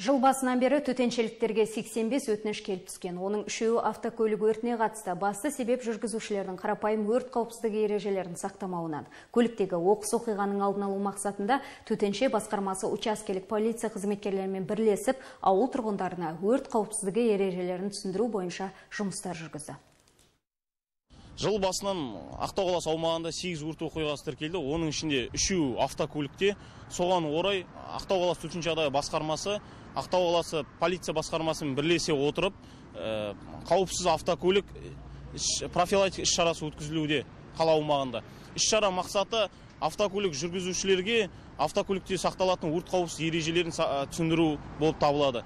Жыл басынан бері төтеншеліктерге 85 өтініш келіп түскен. Оның 3-і автокөлік өртіне қатысты. Басты себеп жүргізушілердің қарапайым өрт қауіпсіздігі ережелерін сақтамауынан. Көліктегі оқыс оқиғаның алдын алу мақсатында төтенше басқармасы учаскелік полиция қызметкерлерімен бірлесіп, ауыл тұрғындарына өрт қауіпсіздігі ережелерін түсіндіру бойынша жұмыстар жүргізді. Жыл басынан Ақтау қаласы аумағында 8 өрт оқиғасы тіркелді. Оның ішінде 3-і автокөлікте. Соған орай Ақтау қаласы төтенше жағдай басқармасы, Ақтау қаласы полиция басқармасымен бірлесе отырып, қауіпсіз автокөлік профилактика іс-шарасы өткізілуде қала аумағында. Іс-шара мақсаты автокөлік жүргізушілерге автокөлікте сақталатын өрт қауіпсіздігі ережелерін түсіндіру болып табылады.